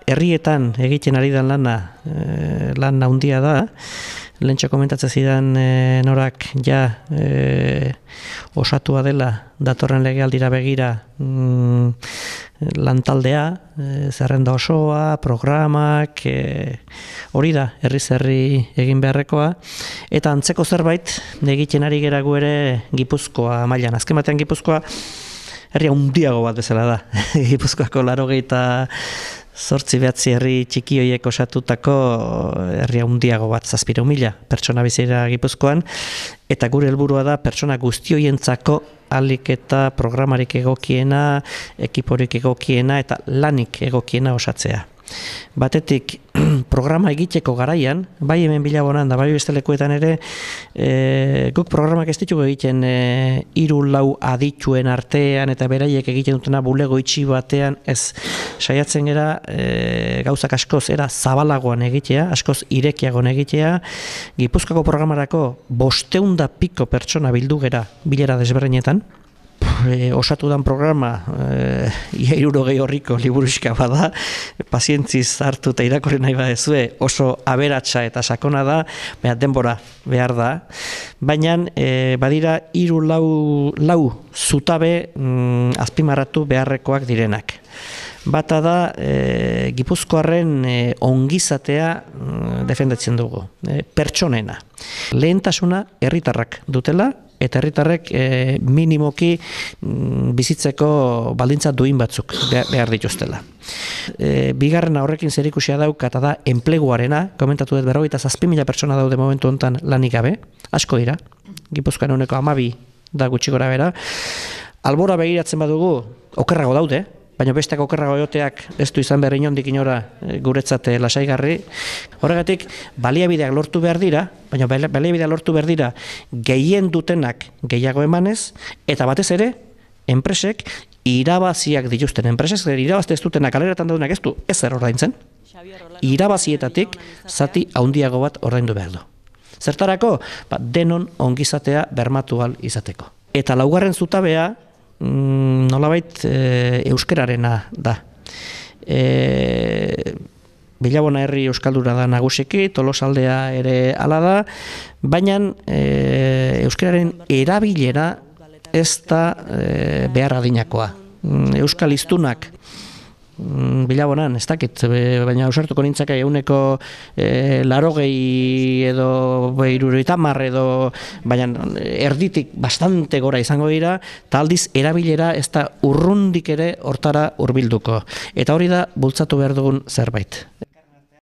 herrietan egiten ari den lan handia da. Lentsa komentatzen zidan norak osatua dela datorren legealdira begira lantaldea, zerrenda osoa, programak, hori da, herri egin beharrekoa, eta antzeko zerbait egiten ari geragu ere Gipuzkoa mailan. Azken batean Gipuzkoa herria handiago bat bezala da. Gipuzkoako 88 herri txiki horiek osatutako herria handiago bat, 7.000 pertsona bizira Gipuzkoan, eta gure helburua da pertsona guzti horientzako ahalik eta programarik egokiena, ekiporik egokiena eta lanik egokiena osatzea. Batetik, programa egiteko garaian, bai hemen Bilabonan da bai beste lekuetan ere, guk programak ez ditugu egiten 3-4 adituen artean eta beraiek egiten dutena bulego itxi batean, ez saiatzen gera gauzak askoz era zabalagoan egitea, askoz irekiagoan egitea. Gipuzkoako programarako 500 piko pertsona bildu gera bilera desberdinetan. Osatu dan programa 60 horriko liburuxka bada, pazientziz hartu eta irakurri nahi badezue, oso aberatsa eta sakona da, denbora behar da, baina badira 3-4 zutabe azpimarratu beharrekoak direnak. Bata da, Gipuzkoarren ongizatea defendatzen dugu, pertsonena. Lehentasuna herritarrak dutela, eta herritarrek minimoki bizitzeko baldintza duin batzuk behar dituztela. Bigarrena horrekin zerikusia dauka eta da enpleguarena, komentatu dut 47.000 pertsona daude momentu honetan lanik gabe, asko dira, Gipuzkoan ehuneko 12 da gutxi gora bera. Albora begiratzen badugu, okerrago daude, baina besteak okerrago egoteak ez du izan behar inondik inora guretzat lasaigarri. Horregatik, baliabideak lortu behar dira, baina baliabideak lortu behar dira gehien dutenak gehiago emanez, eta batez ere, enpresek irabaziak dituzten. Enpresek irabazte ez dutenak aleratan daudenak ez du ezer ordaintzen. Irabazietatik zati handiago bat ordaindu behar du. Zertarako, denon ongizatea bermatu ahal izateko. Eta laugarren zutabea, nolabait euskararena da. Bilabona herri euskalduna da nagusiki, Tolosaldea ere hala da, baina euskararen erabilera ez da behar adinakoa. Euskal hiztunak Bilabonan, ez dakit, baina ausartuko nintzake ehuneko 80 edo 70 edo, baina erditik bastante gora izango dira, eta aldiz erabilera ez da urrundik ere hortara hurbilduko. Eta hori da bultzatu behar dugun zerbait.